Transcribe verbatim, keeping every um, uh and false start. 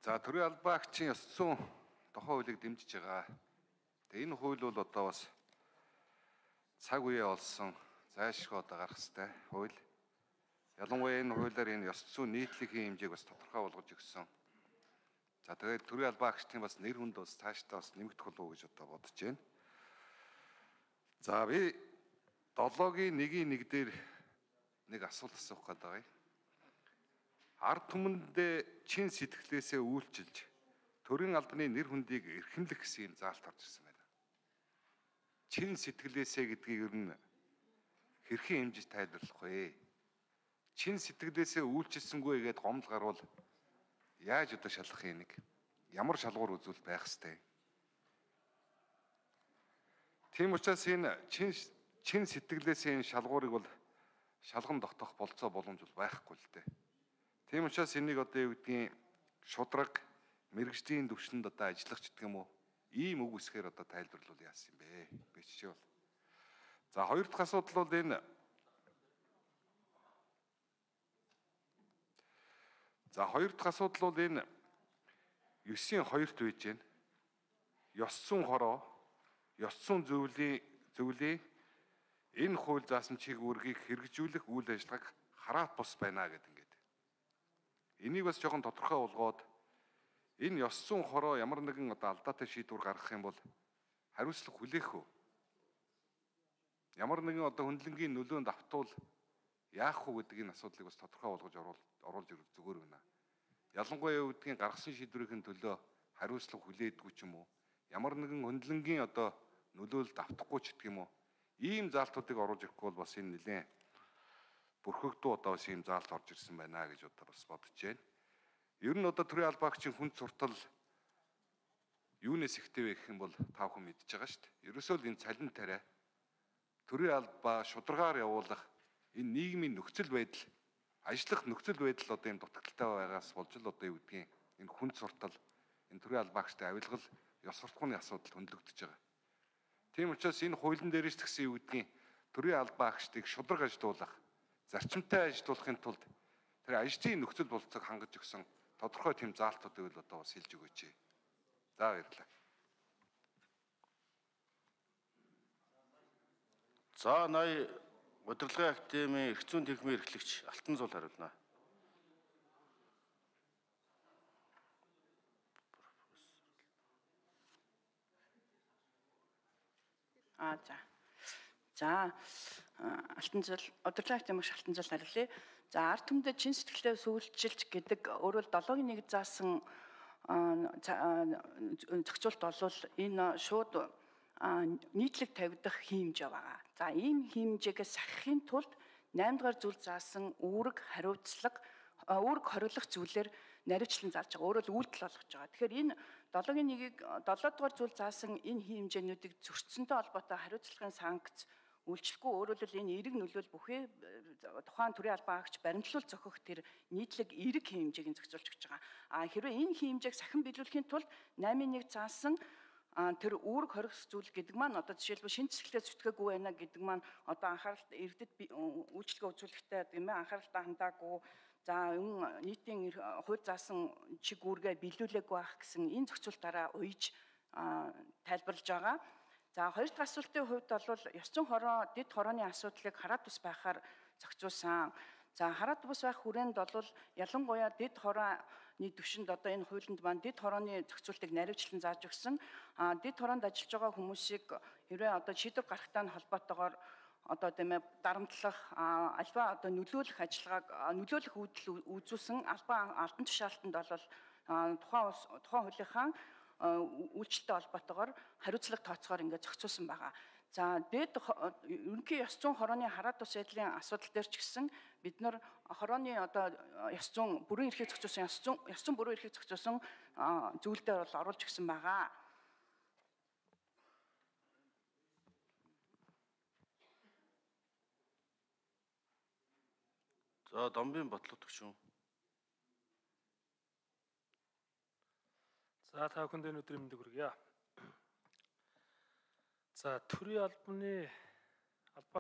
За төрийн албаагчийн ёс зүйн тухай хуулийг дэмжиж байгаа. Тэгээ энэ хууль бол одоо бас цаг үеэ олсон зайлшгүй одоо гарах ёстой хууль. Ялангуяа энэ хуулиар энэ ёс зүйн нийтлэгийн хэмжээг бас тодорхой болгож өгсөн. За тэгээд төрийн албаагчдын бас нэр хүнд бас цаашдаа бас нэмэгдэх болов уу гэж одоо бодож байна. За би долоогийн нэгийн нэг дээр нэг асуулт асуух гээд байгаа юм. Ард түмэндээ чин сэтгэлээсээ үйлчилж төрийн албаны нэр хүндийг эрхэмлэх гэсэн юм заалт орж ирсэн байна. Чин сэтгэлээсээ гэдгийг ер нь хэрхэн хэмжиж тайлбарлах вэ? Чин сэтгэлээсээ үйлчилсэнгүй гэдээ гомдол гарвал яаж одоо шалгах юм нэг? Ямар шалгуур үзүүл байх ёстой? Тийм учраас энэ чин чин сэтгэлээсээ энэ шалгуурыг бол шалган тогтоох болцоо боломж бол байхгүй л дээ. Тийм учраас энийг одоо юу гэдгийг шудраг мэрэгжлийн түвшинд одоо ажиллах ч гэдэг юм уу? Ийм үг үсгээр одоо тайлбарлуул яасан юм бэ? Би жишээ бол. За хоёр дахь асуудал бол энэ За хоёр дахь асуудал бол энэ ёсийн хоёрт байж байна. Ёс зүйн хороо, ёс зүйн зөвлөлийн зөвлөлийн энэ хууль заасан чиг үүргийг хэрэгжүүлэх үйл ажиллагааг хараат бус байна гэдэг ингээд. Энийг бас жоохон тодорхой болгоод энэ ёс зүйн хороо ямар нэгэн одоо алдаатай шийдвэр гаргах юм бол хариуцлага хүлээх үү? Ямар нэгэн одоо хөндлөнгийн нөлөөнд автвал яах вэ гэдэг энэ асуудлыг бас тодорхой болгож оруулж ирэх зүгээр байна. Ялангуяа юу гэдгийг гаргасан шийдвэрийн төлөө хариуцлага хүлээдгүй ч юм уу? Ямар нэгэн хөндлөнгийн одоо нөлөөлөлд автахгүй ч гэдэг юм уу? Ийм заалтуудыг оруулж ирэхгүй бол бас энэ нэлээд бүрхэгдүү одоо бас ийм заалт орж ирсэн байна гэж одоо бас бодож байна. Ер нь одоо төрийн албаагчийн хүнд суртал юунаас ихтэй вэ гэх юм бол та бүхэн мэдж байгаа шүү дээ. Ерөөсөө л энэ цалин тариа төрийн албаа шударгаар явуулах энэ нийгмийн нөхцөл байдал, ажиллах нөхцөл байдал одоо ийм дутагдaltaй байгаас болж л одоо юу гэдгийг энэ хүнд суртал, энэ төрийн албаагчтай авилгал, ёс суртахууны асуудал хөндлөгдөж байгаа. Тийм учраас энэ хуулийн дээрээс тгсэн юу гэдгийг төрийн албаагчдыг шудраг ажилуулах, зарчимтай ажилуулахын тулд тэр ажлын нөхцөл болцоог хангаж өгсөн тодорхой тийм заалтуудыг л одоо бас хэлж өгөөч. За баярлалаа. За ноён удирдлагын академийн эрх зүйн техникийн эрхлэгч Алтан Зуул хариулна. А за. За Алтан Зуул удирдлагын академич Алтан Зуул хариулъя. За ард түмэд чин сэтгэлдээ сүүлчилж гэдэг өөрөөр долоогийн нэг заасан зохицуулт болвол энэ шууд нийтлэг тавигдах хиймжээ байгаа. За ийм хиймжээгээс сахихын тулд наймд дугаар зүйл заасан үүрэг хариуцлага үүрэг хориглох зүйлээр наривчлан зааж байгаа. Өөрөөр үйлдэл болгож байгаа. Тэгэхээр энэ долоогийн нэгийг долоо дугаар зүйл заасан энэ хиймжээнүүдийг зөрчсөнтэй холбоотой хариуцлагын санкц үйлчлэхгүй, өөрөөр хэлбэл энэ эерэг нөлөөл бүхий тухайн төрийн албаагч баримтлуул зохих тэр нийтлэг эерэг хэмжээг зохицуулж өгч байгаа. А хэрвээ энэ хэмжээг сахин биелүүлэхийн тулд наймын нэг заасан тэр үүрэг хоригс зүйл гэдэг маань одоо жишээлбэл шинэ цэцгэлээ зүтгээгүй байна гэдэг маань одоо анхааралт иргэдэд үйлчлэгээ үзүүлэхдээ гэмээ анхааралтай хандаагүй, за нийтийн хууль заасан чиг үүргээ биелүүлээгүй байх гэсэн энэ зохицуултаараа уйж тайлбарлаж байгаа. За хоёр дахь асуултын хувьд бол ёс зүйн хороо, дэд хорооны асуудлыг хараат бус байхаар зохицуулсан. За хараат бус байх хүрээнд бол ялангуяа дэд хорооны түвшинд одоо энэ хуулинд маань дэд хорооны зохицуултыг наривчлан зааж өгсөн. А дэд хороонд ажиллаж байгаа хүмүүсийг хэрвээ одоо шийдвэр гаргахтай холбоотойгоор одоо тийм ээ дарамтлах, альва одоо нөлөөлөх ажиллагааг нөлөөлөх үйлдэл үзүүлсэн албан албан тушаалтанд бол тухайн тухайн хуулийнхаа үйлчлэлтэй холбоотойгоор хариуцлага тооцоогоор ингээд зохицуулсан байгаа. За дэд ерөнхий ёс зүйн хорооны хараат бус байдлын асуудал дээр ч гэсэн бид нар хорооны одоо ёс зүйн бүрэн эрхийг зохицуулсан ёс зүйн ёс зүйн бүрэн эрхийг зохицуулсан зүйлдер бол оруулж өгсөн байгаа. За Домбын бодлого төгшөн. За та бүхэнд өнөөдөр мэндийг хүргье. За төрийн албаны